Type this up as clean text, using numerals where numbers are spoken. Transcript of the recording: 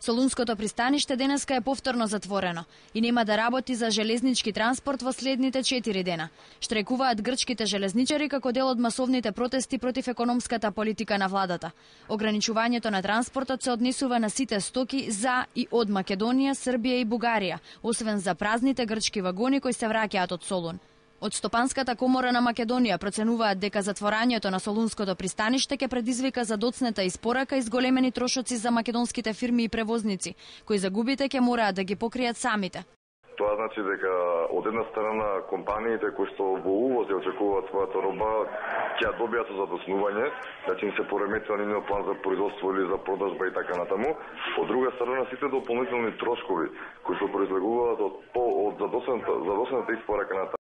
Солунското пристаниште денеска е повторно затворено и нема да работи за железнички транспорт во следните 4 дена. Штрекуваат грчките железничари како дел од масовните протести против економската политика на владата. Ограничувањето на транспортот се однесува на сите стоки за и од Македонија, Србија и Бугарија, освен за празните грчки вагони кои се враќаат од Солун. Од Стопанската комора на Македонија проценуваат дека затворањето на Солунското пристаниште ќе предизвика задоцнета испорака и зголемени трошоци за македонските фирми и превозници, кои загубите ќе мораат да ги покријат самите. Тоа значи дека од една страна компаниите кои што во увоз ја очекуваат својата роба ќе ја добијат со задоснување, значи им се пореметува нивниот план за производство или за продажба и така натаму. Од друга страна сите дополнителни трошкови кои што произлегуваат од задоцната испорака на